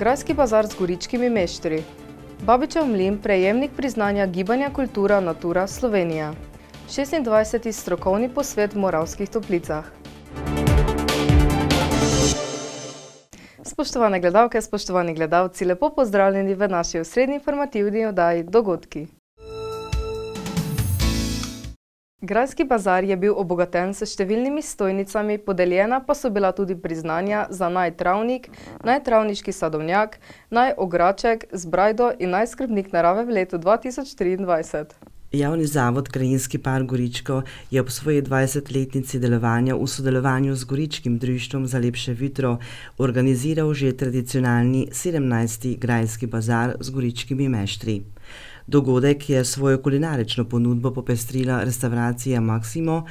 Grajski bazar z goričkimi meštri. Babičev mlin, prejemnik priznanja Gibanja Kultura Natura Slovenija. 26. strokovni posvet v Moravskih Toplicah. Spoštovane gledalke, spoštovani gledalci, lepo pozdravljeni v naši osrednji informativni oddaji Dogodki. Grajski bazar je bil obogaten s številnimi stojnicami, podeljena pa so bila tudi priznanja za naj travnik, naj travniški sadovnjak, naj ograček z brajdo in naj skrbnik narave v letu 2023. Javni zavod Krajinski park Goričko je ob svoji 20-letnici delovanja v sodelovanju z Goričkim društvom za lepše jutro organiziral že tradicionalni 17. Grajski bazar z goričkimi meštri. Dogodek je svojo kulinarično ponudbo popestrila restauracija Maksimo,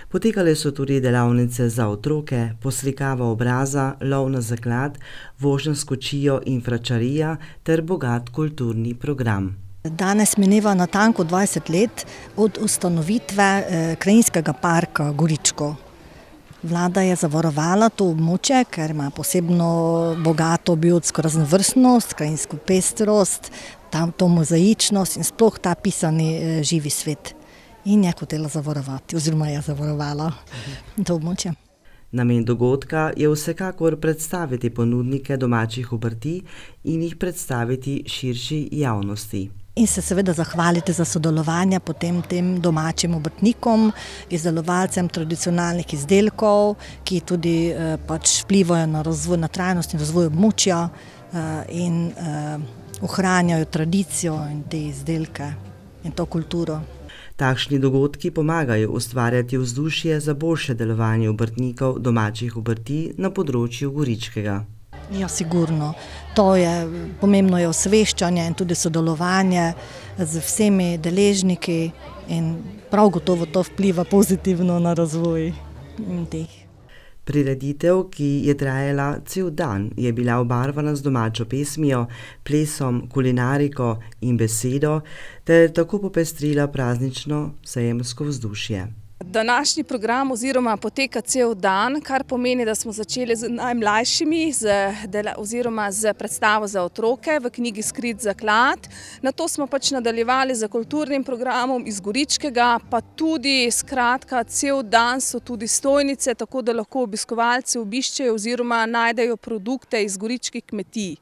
potekale so tudi delavnice za otroke, poslikava obraza, lov na zaklad, vožnja s kočijo in fračarija ter bogat kulturni program. Danes mineva natanko 20 let od ustanovitve Krajinskega parka Goričko. Vlada je zavarovala to območje, ker ima posebno bogato biotsko raznovrstnost, krajinsko pestrost, to mozaičnost in sploh ta pisani živi svet. In je hotela zavarovati, oziroma je zavarovala to območje. Namen dogodka je vsekakor predstaviti ponudnike domačih obrti in jih predstaviti širši javnosti. In se seveda zahvaliti za sodelovanje potem tem domačim obrtnikom, izdelovalcem tradicionalnih izdelkov, ki tudi vplivajo na razvoj, na trajnost in razvoj območja in ohranjajo tradicijo in te izdelke in to kulturo. Takšni dogodki pomagajo ustvarjati vzdušje za boljše delovanje obrtnikov domačih obrti na področju Goričkega. Ja, sigurno. Pomembno je osveščanje in tudi sodelovanje z vsemi deležniki in prav gotovo to vpliva pozitivno na razvoj teh. Prireditev, ki je trajala cel dan, je bila obarvana z domačo pesmijo, plesom, kulinariko in besedo ter tako popestrila praznično sejemsko vzdušje. Današnji program poteka cel dan, kar pomeni, da smo začeli z najmlajšimi oziroma z predstavo za otroke v knjigi Skrit zaklad. Nato smo nadaljevali z kulturnim programom iz Goričkega, pa tudi skratka cel dan so tudi stojnice, tako da lahko obiskovalci obiščejo oziroma najdejo produkte iz goričkih kmetij.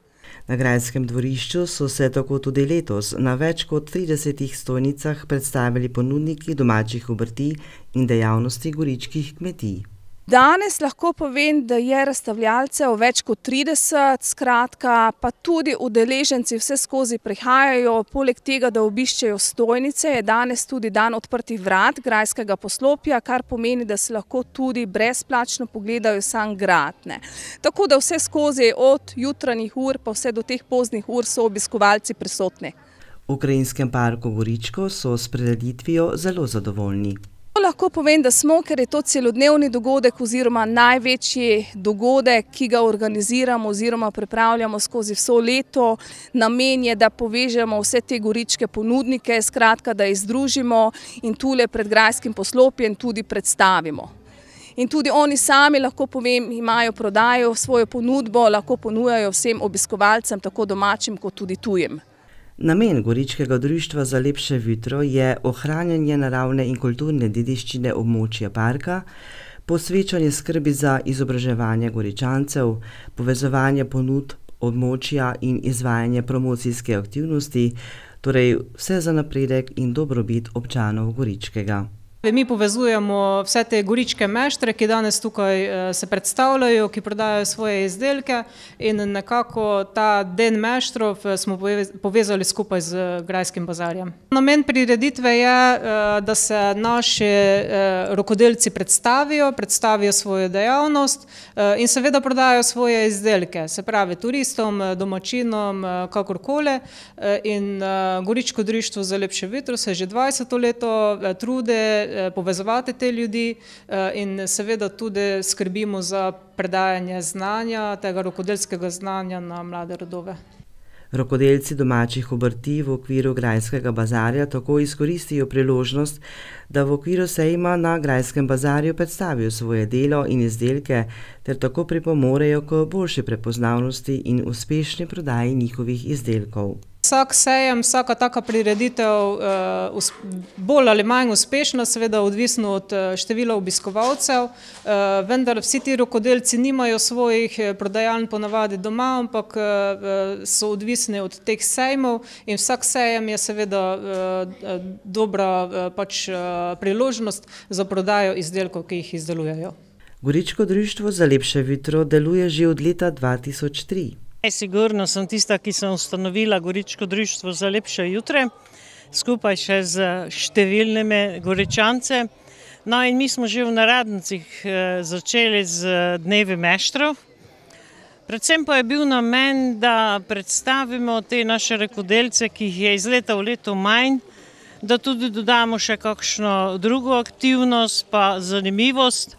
Na Grajskem dvorišču so se tako tudi letos na več kot 30 stojnicah predstavili ponudniki domačih obrti in dejavnosti goričkih kmetij. Danes lahko povem, da je razstavljalcev več kot 30, skratka pa tudi udeleženci vse skozi prihajajo, poleg tega, da obiščejo stojnice, je danes tudi dan odprtih vrat grajskega poslopja, kar pomeni, da se lahko tudi brezplačno pogledajo sam grad. Tako da vse skozi od jutranjih ur pa vse do teh poznih ur so obiskovalci prisotni. V Krajinskem parku Goričko so s prireditvijo zelo zadovoljni. Lahko povem, da smo, ker je to celodnevni dogodek oziroma največji dogodek, ki ga organiziramo oziroma pripravljamo skozi vso leto. Namen je, da povežemo vse te goričke ponudnike, skratka, da jih združimo in tule pred grajskim poslopjem tudi predstavimo. In tudi oni sami, lahko povem, imajo prodajo, svojo ponudbo, lahko ponujajo vsem obiskovalcem, tako domačim kot tudi tujim. Namen Goričkega društva za lepše jutro je ohranjanje naravne in kulturne dediščine območja parka, posvečanje skrbi za izobraževanje Goričancev, povezovanje ponudb območja in izvajanje promocijske aktivnosti, torej vse za napredek in dobrobit občanov Goričkega. Mi povezujemo vse te goričke meštre, ki danes tukaj se predstavljajo, ki prodajajo svoje izdelke in nekako ta den meštrov smo povezali skupaj z Grajskim bazarjem. Namen prireditve je, da se naši rokodelci predstavijo svojo dejavnost in seveda prodajajo svoje izdelke, se pravi turistom, domačinom, kakorkoli. In Goričko društvo za lepše jutro se že 20. leto trudi povezovati te ljudi in seveda tudi skrbimo za predajanje znanja, tega rokodelskega znanja na mlade rodove. Rokodelci domačih obrti v okviru Grajskega bazarja tako izkoristijo priložnost, da v okviru sejma na Grajskem bazarju predstavijo svoje delo in izdelke ter tako pripomorejo k boljši prepoznavnosti in uspešni prodaji njihovih izdelkov. Vsak sejem, vsaka taka prireditev bolj ali manj uspešna, seveda odvisno od števila obiskovalcev, vendar vsi ti rokodelci nimajo svojih prodajaln ponavadi doma, ampak so odvisni od teh sejmov in vsak sejem je seveda dobra priložnost za prodajo izdelkov, ki jih izdelujejo. Goričko društvo za lepše jutro deluje že od leta 2003. Sigurno sem tista, ki sem ustanovila Goričko društvo za lepše jutre, skupaj še z številnimi Goričance. No in mi smo že v Naradnicah začeli z dnevi meštrov. Predvsem pa je bil namen, da predstavimo te naše rokodelce, ki jih je iz leta v leto manj, da tudi dodamo še kakšno drugo aktivnost pa zanimivost.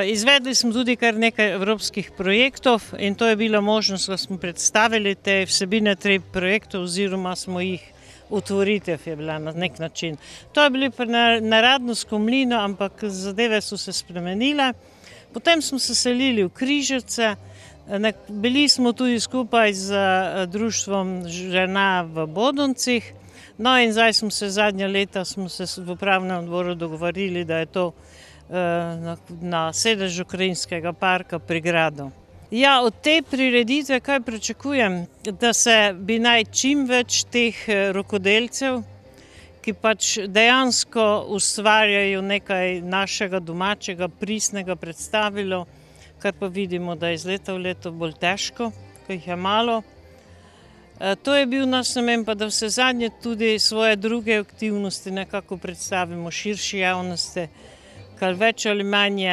Izvedli smo tudi kar nekaj evropskih projektov in to je bila možnost, da smo predstavili te vsebine treh projektov oziroma smo jih utvoritev je bila na nek način. To je bilo pa na Radnsko mlino, ampak zadeve so se spremenile. Potem smo se selili v Križevce, bili smo tudi skupaj z društvom žena v Bodoncih. No in zdaj smo se zadnja leta v upravnem odboru dogovorili, da je to na sedežu Krajinskega parka pri Gradu. Ja, od te prireditve kaj pričakujem? Da se bi naj čim več teh rokodelcev, ki pač dejansko ustvarjajo nekaj našega domačega, pristnega predstavilo, kar pa vidimo, da je iz leta v leto bolj težko, ko jih je malo. To je bil naš namen, pa da vse zadnje tudi svoje druge aktivnosti nekako predstavimo širši javnosti, kar več ali manje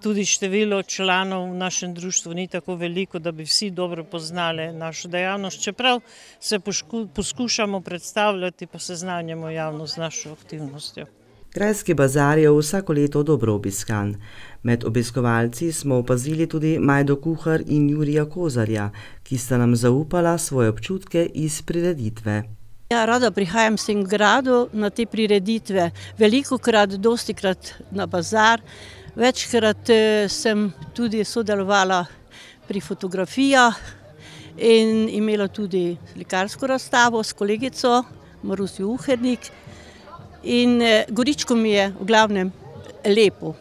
tudi število članov v našem društvu ni tako veliko, da bi vsi dobro poznali našo dejavnost. Čeprav se poskušamo predstavljati, pa seznanjamo javnost z našo aktivnostjo. Grajski bazar je vsako leto dobro obiskan. Med obiskovalci smo opazili tudi Majdo Kuhar in Jurija Kozarja, ki sta nam zaupala svoje občutke iz prireditve. Ja, rada prihajam v tem gradu na te prireditve, velikokrat, dostikrat na bazar, večkrat sem tudi sodelovala pri fotografijah in imela tudi slikarsko razstavo s kolegico Marusjo Uhernik in Goričko mi je v glavnem lepo.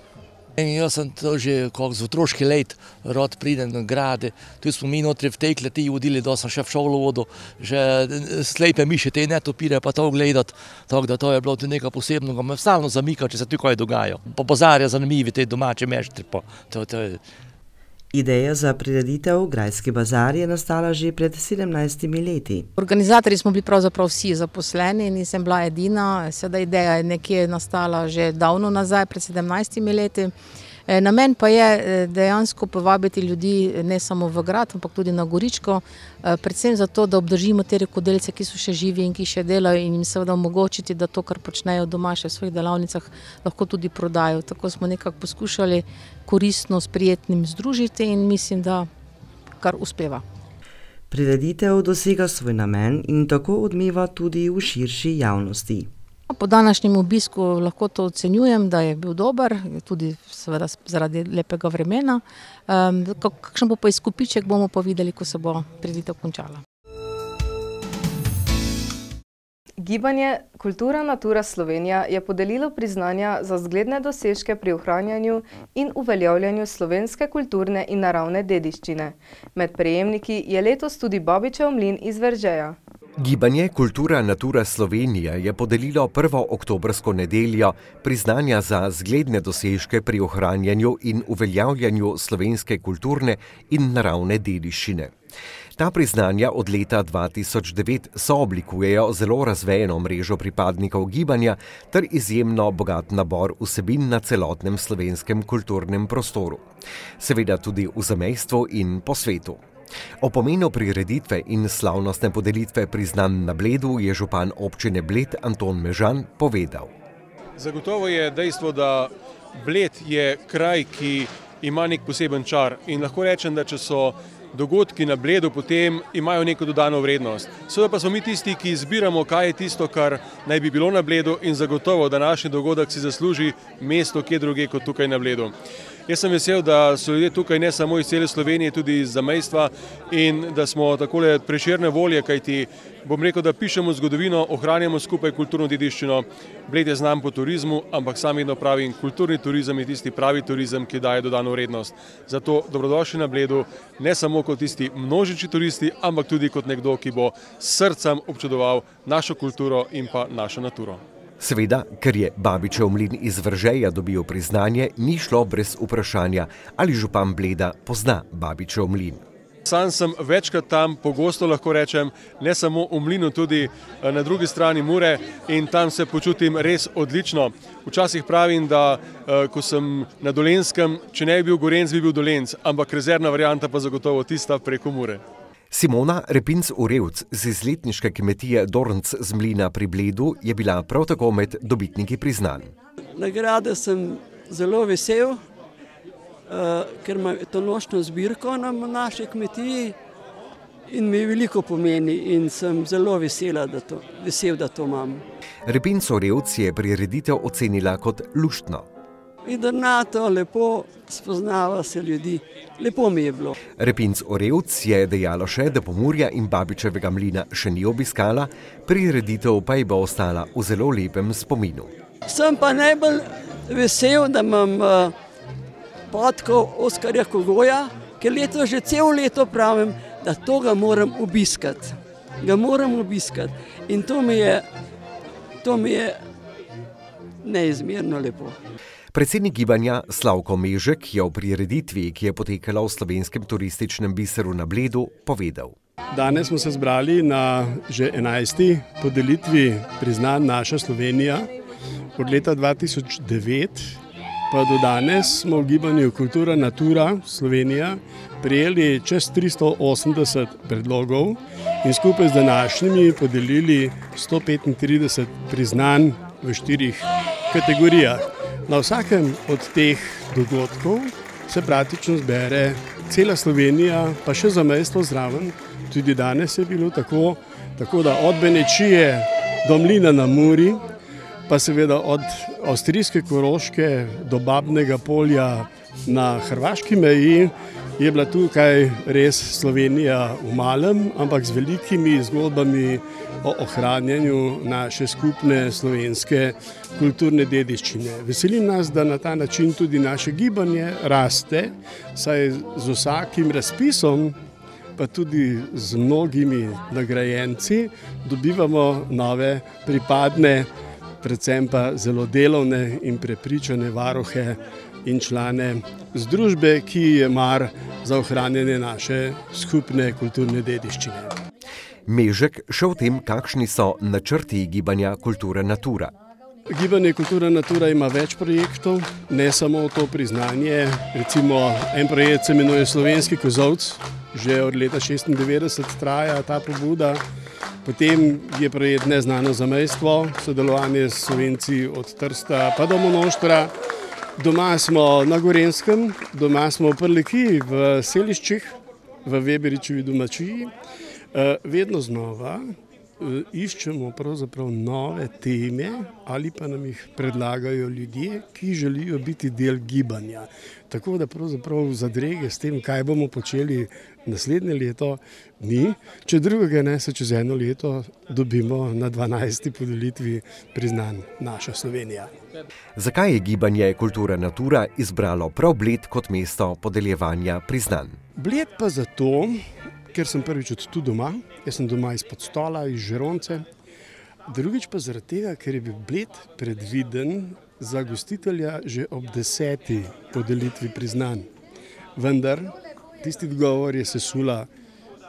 Jaz sem to že z otroški let, rad pridem na grade, tu smo mi notri v tej kleti vodili, da sem še v šolo vodil, že slepe miše te netopire pa to gledati, tako da to je bilo tudi nekaj posebnega, me stalno zamika, če se tu kaj dogaja. Po bazarju zanimivi te domače meštri. Ideja za prireditev Grajski bazar je nastala že pred 17 leti. Organizatorji smo bili pravzaprav vsi zaposleni, nisem bila edina, sedaj ideja je nekje nastala že davno nazaj, pred 17 leti. Namen pa je dejansko povabiti ljudi ne samo v grad, ampak tudi na Goričko, predvsem zato, da obdržimo te rokodelce, ki so še živi in ki še delajo in jim seveda omogočiti, da to, kar počnejo doma še v svojih delavnicah, lahko tudi prodajo. Tako smo nekako poskušali koristno s prijetnim združiti in mislim, da kar uspeva. Prireditev dosega svoj namen in tako odmeva tudi v širši javnosti. Po današnjem obisku lahko to ocenjujem, da je bil dober, tudi seveda zaradi lepega vremena. Kakšen bo pa izkupiček, bomo pa videli, ko se bo prireditev končala. Gibanje Kultura Natura Slovenija je podelilo priznanja za zgledne dosežke pri ohranjanju in uveljavljanju slovenske kulturne in naravne dediščine. Med prejemniki je letos tudi Babičev mlin iz Veržeja. Gibanje Kultura Natura Slovenija je podelilo 1. oktobrsko nedeljo priznanja za zgledne dosežke pri ohranjanju in uveljavljanju slovenske kulturne in naravne dediščine. Ta priznanja od leta 2009 sooblikujejo zelo razvejeno mrežo pripadnikov gibanja ter izjemno bogat nabor vsebin na celotnem slovenskem kulturnem prostoru. Seveda tudi v zamejstvu in po svetu. O pomenu prireditve in slavnostne podelitve priznanj na Bledu je župan občine Bled Anton Mežan povedal. Zagotovo je dejstvo, da Bled je kraj, ki ima nek poseben čar in lahko rečem, da če so dogodki na Bledu potem imajo neko dodano vrednost. Seveda pa smo mi tisti, ki izbiramo, kaj je tisto, kar naj bi bilo na Bledu in zagotovo današnji dogodek si zasluži mesto kje druge kot tukaj na Bledu. Jaz sem vesel, da so ljudje tukaj ne samo iz cele Slovenije, tudi iz zamejstva in da smo takole prešerne volje, kajti bom rekel, da pišemo zgodovino, ohranjamo skupaj kulturno dediščino. Bled je znan po turizmu, ampak sam vedno pravim, kulturni turizem je tisti pravi turizem, ki daje dodano vrednost. Zato dobrodošli na Bledu, ne samo kot tisti množični turisti, ampak tudi kot nekdo, ki bo s srcem občudoval našo kulturo in pa našo naturo. Seveda, ker je Babičev mlin iz Vržeja dobil priznanje, ni šlo brez vprašanja, ali župan Bleda pozna Babičev mlin. Sam sem večkrat tam, pogosto lahko rečem, ne samo v mlinu, tudi na drugi strani Mure in tam se počutim res odlično. Včasih pravim, da ko sem na Dolenjskem, če ne bi bil Gorenc, bi bil Dolenc, ampak rezervna varianta pa zagotovo tista preko Mure. Simona Repinc-Urevc z izletniške kmetije Dornc z mlina pri Bledu je bila prav tako med dobitniki priznanj. Nagrade sem zelo vesel, ker imam to nočno zbirko na naši kmetiji in mi veliko pomeni in sem zelo vesel, da to imam. Repinc-Urevc je prireditev ocenila kot luštno. Idrnato, lepo, spoznava se ljudi, lepo mi je bilo. Repinc-Urevc je dejala še, da Pomurja in Babičevega mlina še ni obiskala, prireditev pa ji bo ostala v zelo lepem spominu. Sem pa najbolj vesel, da imam podkov Oskarja Kogoja, ker že celo leto pravim, da to ga moram obiskati. In to mi je neizmerno lepo. Predsednik gibanja Slavko Mežek je o prireditvi, ki je potekala v slovenskem turističnem biseru na Bledu, povedal. Danes smo se zbrali na že 11. podelitvi priznanj Naša Slovenija. Od leta 2009 pa do danes smo v gibanju Kultura Natura Slovenija prijeli čez 380 predlogov in skupaj z današnjimi podelili 135 priznanj v 4 kategorijah. Na vsakem od teh dogodkov se praktično zbere cela Slovenija, pa še zamejstvo zraven. Tudi danes je bilo tako da od Benečije do Mlina na Muri, pa seveda od avstrijske Koroške do Babnega Polja na hrvaški meji, je bila tukaj res Slovenija v malem, ampak z velikimi zgodbami o ohranjanju naše skupne slovenske kulturne dediščine. Veselim nas, da na ta način tudi naše gibanje raste, saj z vsakim razpisom, pa tudi z mnogimi nagrajenci, dobivamo nove pripadne, predvsem pa zelo delovne in prepričane varuhe in člane združbe, ki je mar za ohranjanje naše skupne kulturne dediščine. Mežek še o tem, kakšni so načrti gibanja Kultura Natura. Gibanje Kultura Natura ima več projektov, ne samo to priznanje. Recimo en projekt se imenuje Slovenski kozolc, že od leta 1996 traja ta pobuda. Potem je projekt Neznano zamejstvo, sodelovanje s Slovenci od Trsta pa do Monoštra. Doma smo na Gorenskem, doma smo v Prlekiji, v Seliščih, v Weberičevi domačiji. Vedno znova iščemo pravzaprav nove teme ali pa nam jih predlagajo ljudje, ki želijo biti del gibanja. Tako da pravzaprav zadrege s tem, kaj bomo počeli naslednje leto, ni. Če drugega ne, se čez eno leto dobimo na 12. podelitvi priznanj Naša Slovenija. Zakaj je gibanje Kultura Natura izbralo prav Bled kot mesto podeljevanja priznanj? Bled pa zato, ker sem prvič od tu doma, jaz sem doma izpod stola, iz Žironce. Drugič pa zaradi tega, ker je bil Bled predviden za gostitelja že ob 10. podelitvi priznanj. Vendar tisti dogovor je sesula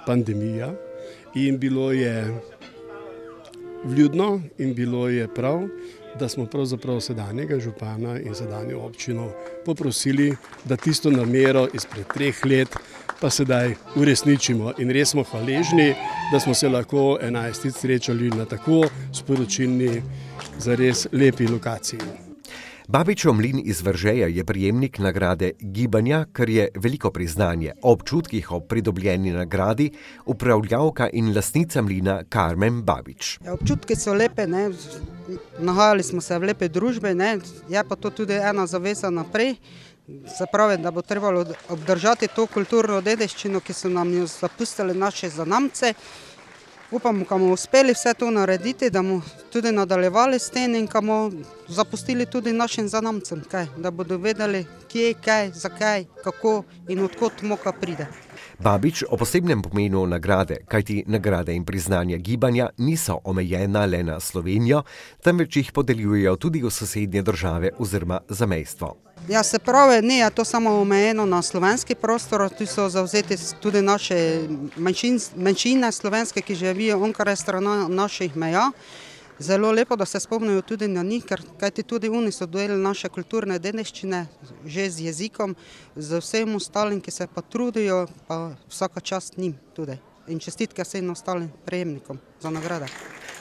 pandemija in bilo je vljudno in bilo je prav, da smo pravzaprav sedanjega župana in sedanjo občino poprosili, da tisto namero izpred 3 let pa sedaj uresničimo. In res smo hvaležni, da smo se lahko 11. srečali na tako sporočilni, zares lepi lokaciji. Babičev mlin iz Veržeja je prejemnik nagrade Gibanja, kar je veliko priznanje. O občutkih ob pridobljeni nagradi upravljavka in lastnica mlina Karmen Babič. Občutki so lepe, ne? Nahajali smo se v lepe družbe, ne? Je pa to tudi ena zaveza naprej. Se pravi, da bo trebalo obdržati to kulturno dediščino, ki so nam jo zapustili naše zanamce. Upamo, da bomo uspeli vse to narediti, da bomo tudi nadaljevali s tem in da bomo zapustili tudi našim zanamcem, da bodo vedeli, kje, kaj, zakaj, kako in odkot moka pride. Babič o posebnem pomenu nagrade, kajti nagrade in priznanja gibanja niso omejena le na Slovenijo, temveč jih podeljujejo tudi v sosednje države oziroma zamejstvo. Ja, se pravi, ni to samo omejeno na slovenski prostor, tu so zavzeti tudi naše manjšine slovenske, ki živijo onkraj strani naših meja. Zelo lepo, da se spomnijo tudi na njih, kajti tudi oni so del naše kulturne dediščine, že z jezikom, z vsem ostalim, ki se pa trudijo, pa vsaka čast njim tudi. In čestitke vsem ostalim prejemnikom za nagrade.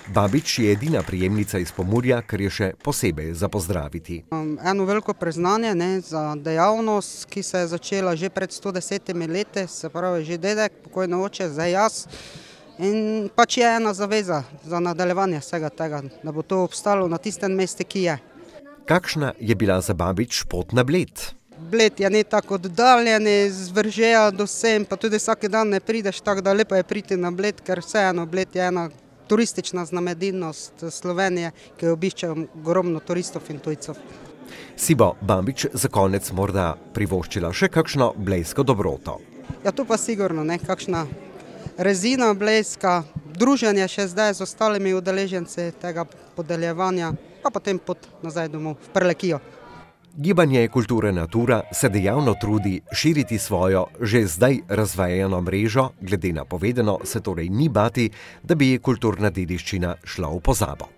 Babič je edina prejemnica iz Pomurja, kar je še posebej za pozdraviti. Eno veliko priznanje za dejavnost, ki se je začela že pred 110 leti, se pravi že dedek, pokojno oče, zdaj jaz. In pač je ena zaveza za nadaljevanje vsega tega, da bo to obstalo na tistem mestu, ki je. Kakšna je bila za Babič pot na Bled? Bled je ne tako oddaljen, z Veržeja do sem, pa tudi vsak dan ne prideš, tako da lepo je priti na Bled, ker vseeno Bled je ena turistična znamenitost Slovenije, ki jo obišče ogromno turistov in tujcev. Si bo Babič za konec morda privoščila še kakšno blejsko dobroto? Ja, to pa sigurno, ne, kakšna rezina blejska, druženje še zdaj z ostalimi udeleženci tega podeljevanja, pa potem pot nazaj domov v Prlekijo. Gibanje Kultura Natura se dejavno trudi širiti svojo, že zdaj razvejano mrežo, glede na povedano se torej ni bati, da bi kulturna dediščina šla v pozabo.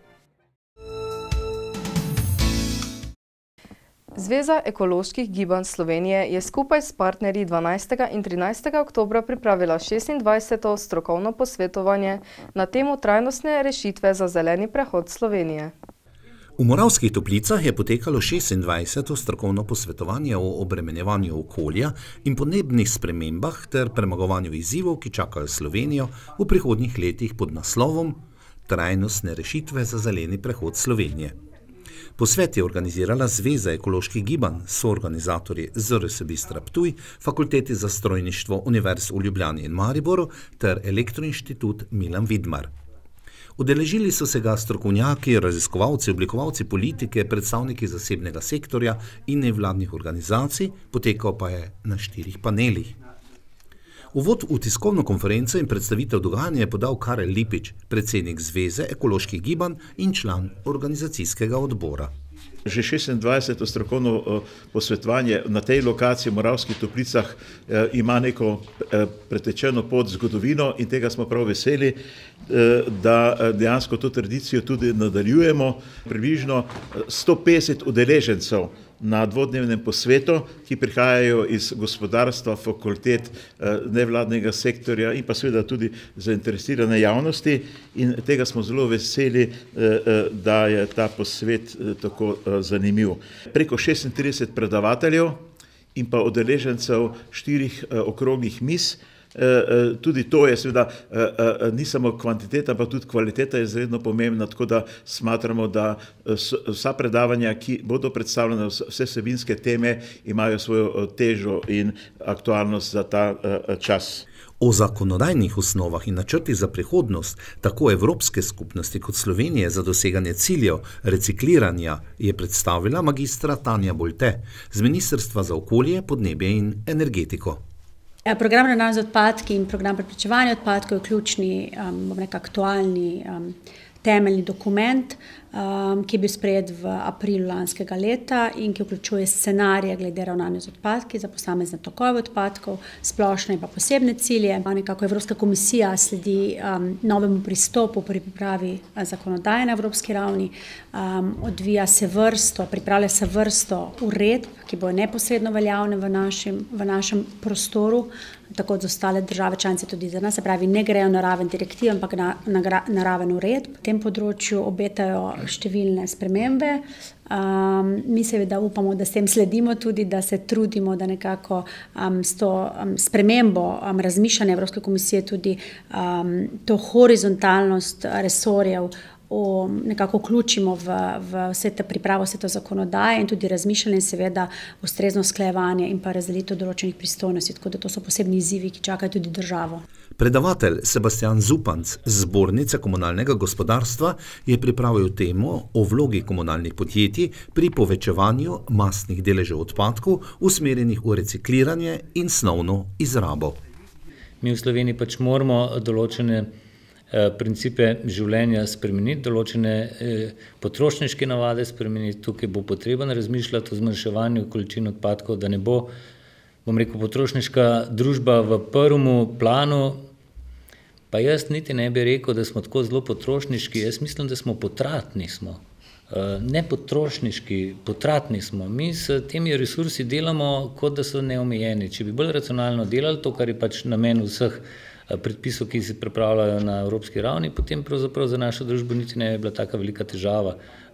Zveza ekoloških gibanj Slovenije je skupaj s partnerji 12. in 13. oktobra pripravila 26. strokovno posvetovanje na temo trajnostne rešitve za zeleni prehod Slovenije. V Moravskih Toplicah je potekalo 26. strokovno posvetovanje o obremenjevanju okolja in podnebnih spremembah ter premagovanju izzivov, ki čakajo Slovenijo v prihodnjih letih pod naslovom Trajnostne rešitve za zeleni prehod Slovenije. Posvet je organizirala Zveza ekoloških gibanj, soorganizatorji ZRS Bistra Ptuj, Fakulteti za strojništvo Univerz v Ljubljani in Mariboru ter Elektroinštitut Milan Vidmar. Udeležili so se ga strokovnjaki, raziskovalci, oblikovalci politike, predstavniki zasebnega sektorja in nevladnih organizacij, potekal pa je na 4 panelih. Uvod v tiskovno konferenco in predstavitev dogajanja je podal Karel Lipič, predsednik Zveze ekoloških gibanj in član organizacijskega odbora. Že 26. strokovno posvetovanje na tej lokaciji v Moravskih Toplicah ima neko pretečeno pot zgodovino in tega smo prav veseli, da dejansko to tradicijo tudi nadaljujemo. Približno 150 udeležencev na dvodnevnem posvetu, ki prihajajo iz gospodarstva, fakultet, nevladnega sektorja in pa seveda tudi zainteresirane javnosti in tega smo zelo veseli, da je ta posvet tako zanimiv. Preko 36 predavateljev in pa udeležencev 4 okroglih miz. Tudi to je seveda ni samo kvantiteta, pa tudi kvaliteta je izredno pomembna, tako da smatramo, da vsa predavanja, ki bodo predstavljene, vse vsebinske teme, imajo svojo težo in aktualnost za ta čas. O zakonodajnih osnovah in načrtih za prihodnost tako Evropske skupnosti kot Slovenije za doseganje ciljev recikliranja je predstavila magistra Tanja Bolte z Ministrstva za okolje, podnebje in energetiko. Program ravnanja z odpadki in program preprečevanja odpadkov je ključni, aktualni temeljni dokument, ki je bil sprejet v aprilu lanskega leta in ki vključuje scenarije glede ravnanja z odpadki za posamezne tokove odpadkov, splošne in pa posebne cilje. Nekako Evropska komisija sledi novemu pristopu pri pripravi zakonodaje na evropski ravni, pripravlja se vrsto uredb, ki bodo neposredno veljavne v našem prostoru, tako za ostale države članice tudi za nas, se pravi, ne grejo na raven direktiv, ampak na raven uredb. V tem področju obetajo številne spremembe. Mi seveda upamo, da s tem sledimo tudi, da se trudimo, da nekako s to spremembo razmišljanja Evropske komisije tudi to horizontalnost resorjev nekako vključimo v vse te pripravo, vse to zakonodaje in tudi razmišljanje in seveda ustrezno usklajevanje in pa razdelitev določenih pristojnosti, tako da to so posebni izzivi, ki čakajo tudi državo. Predavatelj Sebastian Zupanc z Zbornice komunalnega gospodarstva je pripravil temo o vlogi komunalnih podjetij pri povečevanju masnih deležev odpadkov usmerjenih v recikliranje in snovno izrabo. Mi v Sloveniji pač moramo določene principe življenja spremeniti, določene potrošniške navade spremeniti. Tukaj bo potrebno razmišljati o zmanjševanju količin odpadkov, da ne bo, bom rekel, potrošniška družba v prvem planu. Pa jaz niti ne bi rekel, da smo tako zelo potrošniški, jaz mislim, da smo potratni smo. Ne potrošniški, potratni smo. Mi s temi resursi delamo, kot da so neomejeni. Če bi bolj racionalno delali to, kar je pač namen vseh predpisov, ki se pripravljajo na evropski ravni, potem pravzaprav za našo družbo niti ne je bila taka velika težava.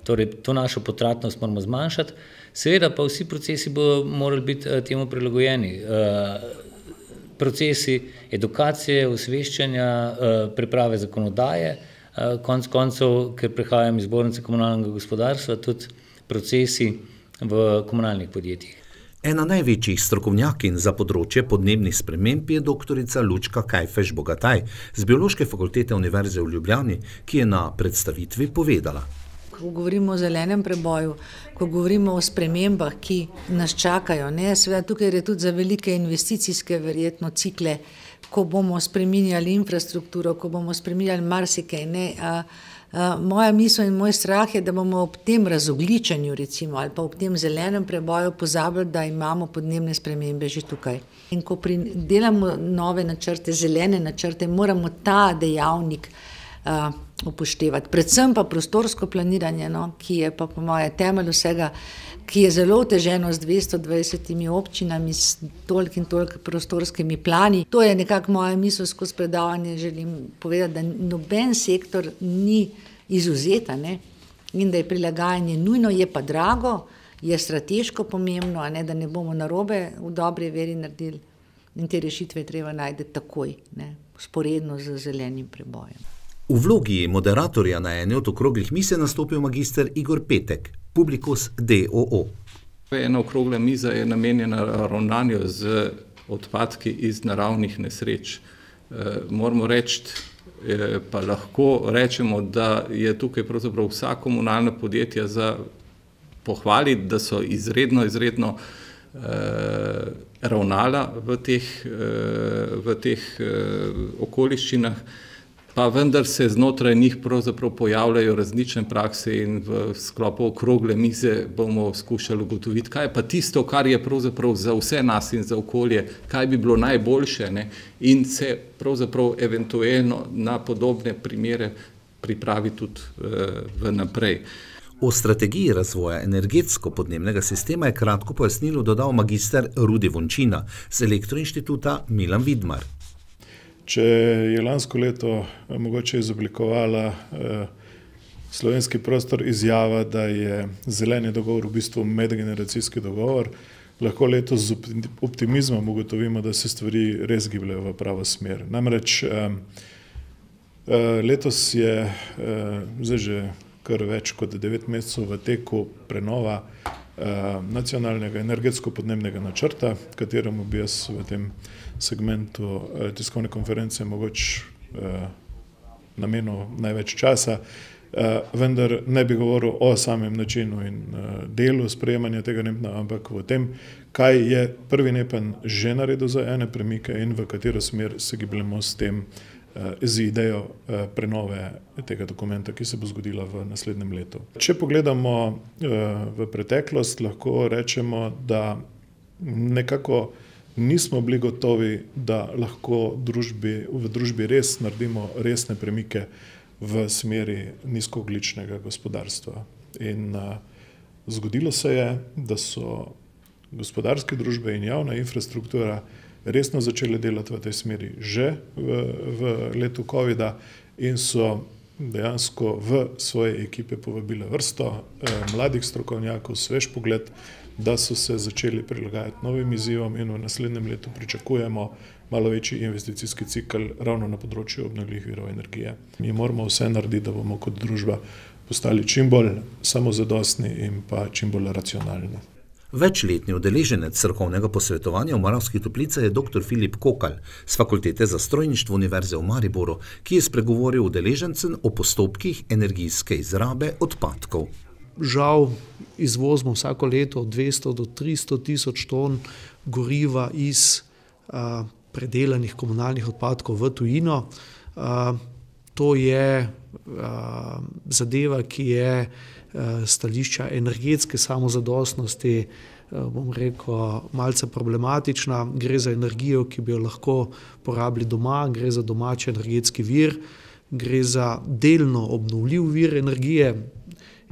Torej, to našo potratnost moramo zmanjšati. Seveda pa vsi procesi bodo morali biti temu prilagojeni. Procesi edukacije, osveščanja, priprave zakonodaje, konec koncev, ker prihajam iz Zbornice komunalnega gospodarstva, tudi procesi v komunalnih podjetjih. Ena največjih strokovnjakinj za področje podnebnih sprememb je doktorica Lučka Kajfež-Bogataj z Biološke fakultete Univerze v Ljubljani, ki je na predstavitvi povedala. Ko govorimo o zelenem preboju, ko govorimo o spremembah, ki nas čakajo, seveda tukaj je tudi za velike investicijske verjetno cikle, ko bomo spreminjali infrastrukturo, ko bomo spreminjali marsikaj, moja misel in moj strah je, da bomo ob tem razogličenju recimo ali pa ob tem zelenem preboju pozabili, da imamo podnebne spremembe že tukaj. In ko delamo nove načrte, zelene načrte, moramo ta dejavnik upoštevati. Predvsem pa prostorsko planiranje, ki je pa po moje temelj vsega, ki je zelo oteženo z 220 občinami, s toliko in toliko prostorskimi plani. To je nekako moja misel skozi predavanje, želim povedati, da noben sektor ni izvzeta, in da je prilagajanje nujno, je pa drago, je strateško pomembno, da ne bomo narobe v dobri veri naredili in te rešitve treba najti takoj, vzporedno z zelenim prebojem. V vlogi moderatorja na eni od okroglih miz je nastopil magister Igor Petek, Publikus d.o.o. Ena okrogla miza je namenjena ravnanju z odpadki iz naravnih nesreč. Moramo reči, pa lahko rečemo, da je tukaj pravzaprav vsa komunalna podjetja za pohvaliti, da so izredno ravnala v teh okoliščinah, pa vendar se znotraj njih pravzaprav pojavljajo različne prakse in v sklopu okrogle mize bomo skušali ugotoviti, kaj je pa tisto, kar je pravzaprav za vse nas in za okolje, kaj bi bilo najboljše, in se pravzaprav eventualno na podobne primere pripravi tudi vnaprej. O strategiji razvoja energetsko-podnebnega sistema je kratko pojasnilo dodal magister Rudi Vončina z Elektroinštituta Milan Vidmar. Če je lansko leto mogoče izoblikovala slovenski prostor izjava, da je zeleni dogovor v bistvu medgeneracijski dogovor, lahko letos z optimizmom ugotovimo, da se stvari res gibljajo v pravo smer. Namreč letos je zdaj že kar več kot 9 mesecev v teku prenova nacionalnega energetsko-podnebnega načrta, kateremu bi jaz v tem segmentu tiskovne konference mogoče namenil največ časa, vendar ne bi govoril o samem načinu in delu sprejemanja tega NEPN, ampak o tem, kaj je prvi NEPN že naredil za ene premike in v katero smer se gibljemo s tem, z idejo prenove tega dokumenta, ki se bo zgodila v naslednjem letu. Če pogledamo v preteklost, lahko rečemo, da nekako nismo bili gotovi, da lahko v družbi res naredimo resne premike v smeri nizkoogljičnega gospodarstva. In zgodilo se je, da so gospodarske družbe in javna infrastruktura resno začele delati v tej smeri že v letu covida in so dejansko v svoje ekipe povabile vrsto mladih strokovnjakov, svež pogled, da so se začeli prilagajati novim izzivom in v naslednjem letu pričakujemo malo večji investicijski cikl ravno na področju obnovljivih virov energije. Mi moramo vse narediti, da bomo kot družba postali čim bolj samozadostni in pa čim bolj racionalni. Večletni udeleženec strokovnega posvetovanja v Moravskih Toplicah je dr. Filip Kokalj z Fakultete za strojništvo Univerze v Mariboru, ki je spregovoril udeležencem o postopkih energijske izrabe odpadkov. Žal izvozimo vsako leto 200 do 300 tisoč ton goriva iz predelanih komunalnih odpadkov v tujino. To je zadeva, ki je stališča energetske samozadostnosti, bom rekel, malce problematična. Gre za energijo, ki bi jo lahko porabili doma, gre za domači energetski vir, gre za delno obnovljiv vir energije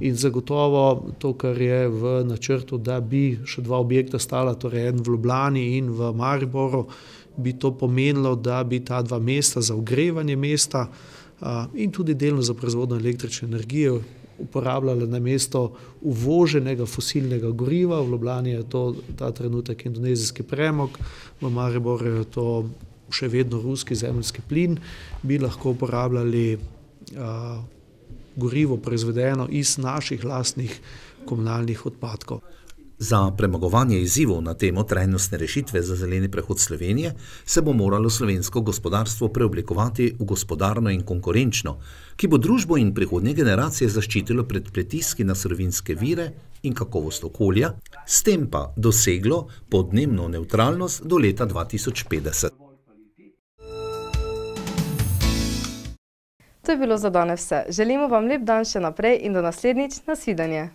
in zagotovo to, kar je v načrtu, da bi še 2 objekta stala, torej en v Ljubljani in v Mariboru, bi to pomenilo, da bi ta 2 mesta za ogrevanje mesta in tudi delno za proizvodnjo električne energije uporabljala namesto uvoženega fosilnega goriva. V Ljubljani je to ta trenutek indonezijski premog, v Mariboru je to še vedno ruski zemeljski plin, bi lahko uporabljali gorivo proizvedeno iz naših lastnih komunalnih odpadkov. Za premagovanje izzivov na temo trajnostne rešitve za zeleni prehod Slovenije se bo moralo slovensko gospodarstvo preoblikovati v gospodarno in konkurenčno, ki bo družbo in prihodnje generacije zaščitilo pred pritiski na surovinske vire in kakovost okolja, s tem pa doseglo podnebno nevtralnost do leta 2050. To je bilo za danes vse. Želimo vam lep dan še naprej in do naslednjič. Nasvidenje.